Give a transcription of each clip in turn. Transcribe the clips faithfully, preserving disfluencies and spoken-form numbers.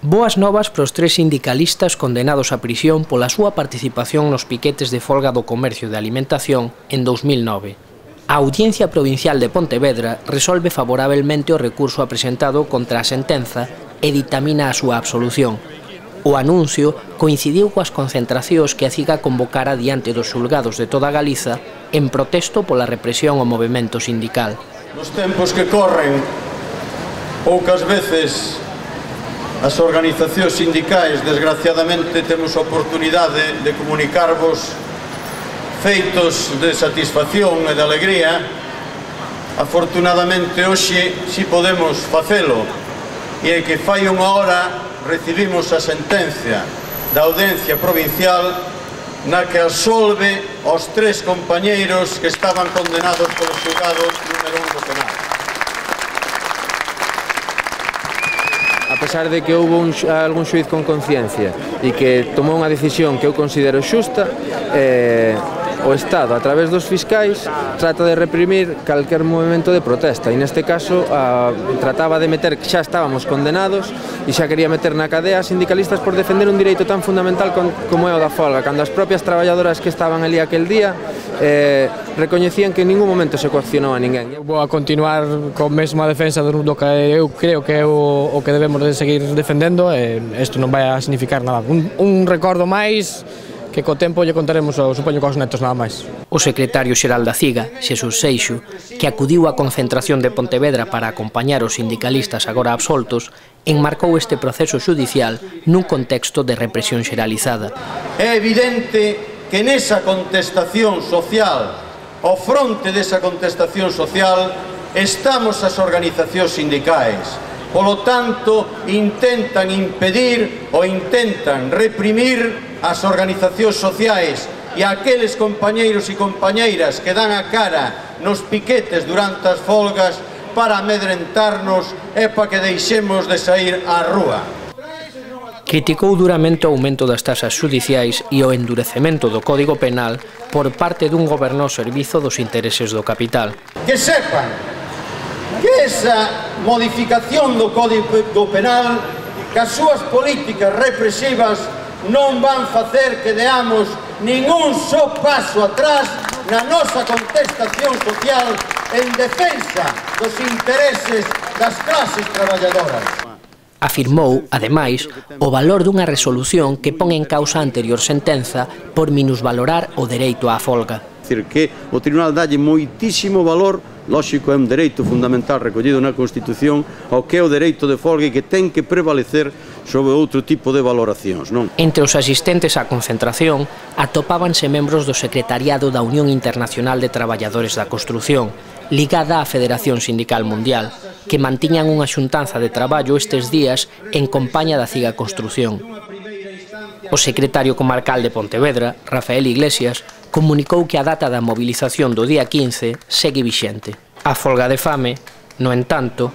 Boas novas para os tres sindicalistas condenados a prisión pola súa participación nos piquetes de folga do comercio de alimentación en dous mil nove. A Audiencia Provincial de Pontevedra resolve favorablemente o recurso apresentado contra a sentenza e ditamina a súa absolución. O anuncio coincidiu coas concentracións que a CIGA convocara diante dos xulgados de toda Galiza en protesto pola represión ao movemento sindical. Nos tempos que corren, poucas veces as organizacións sindicais, desgraciadamente, temos a oportunidade de comunicarvos feitos de satisfacción e de alegría. Afortunadamente, hoxe si podemos facelo, e é que fai unha hora recibimos a sentencia da Audiencia Provincial na que absolve aos tres compañeiros que estaban condenados polo xulgado número un do penal. A pesar de que houve un, algún xuiz con conciencia e que tomou unha decisión que eu considero xusta, eh, o Estado, a través dos fiscais, trata de reprimir calquer movimento de protesta e neste caso a, trataba de meter que xa estábamos condenados e xa quería meter na cadea a sindicalistas por defender un direito tan fundamental con, como é o da folga, cando as propias traballadoras que estaban ali aquel día eh, recoñecían que en ningún momento se coaccionou a ninguén. Eu vou a continuar con mesma defensa do que eu creo que é o, o que debemos de seguir defendendo e isto non vai a significar nada. Un, un recordo máis que co tempo lle contaremos, supoño, cos netos nada máis. O secretario xeral da CIGA, Xesús Seixo, que acudiu á concentración de Pontevedra para acompañar os sindicalistas agora absoltos, enmarcou este proceso xudicial nun contexto de represión xeralizada. É evidente que nesa contestación social, ao fronte desa contestación social, estamos as organizacións sindicais. Polo tanto, intentan impedir ou intentan reprimir as organizacións sociais e aqueles compañeiros e compañeiras que dan a cara nos piquetes durante as folgas para amedrentarnos e para que deixemos de sair á rúa. Criticou duramente o aumento das tasas xudiciais e o endurecemento do Código Penal por parte dun goberno ao servizo dos intereses do capital. Que sepan que esa modificación do Código Penal, que as súas políticas represivas non van facer que deamos ningún só paso atrás na nosa contestación social en defensa dos intereses das clases traballadoras. Afirmou, ademais, o valor dunha resolución que pon en causa a anterior sentenza por minusvalorar o dereito á folga. É dicir, que o Tribunal dalle moitísimo valor, lóxico, é un dereito fundamental recollido na Constitución, ao que é o dereito de folga e que ten que prevalecer sobre outro tipo de valoracións, non? Entre os asistentes á concentración atopábanse membros do secretariado da Unión Internacional de Traballadores da Construción, ligada á Federación Sindical Mundial, que mantiñan unha xuntanza de traballo estes días en compaña da CIGA Construción. O secretario comarcal de Pontevedra, Rafael Iglesias, comunicou que a data da movilización do día quince segue vixente. A folga de fame, no entanto,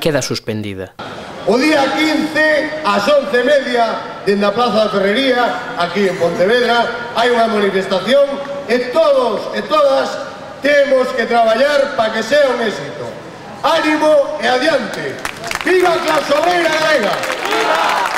queda suspendida. O día quince, ás once e media, dende a Plaza da Ferrería, aquí en Pontevedra, hai unha manifestación e todos e todas temos que traballar para que sea un éxito. Ánimo e adiante. Viva a clase obreira galega!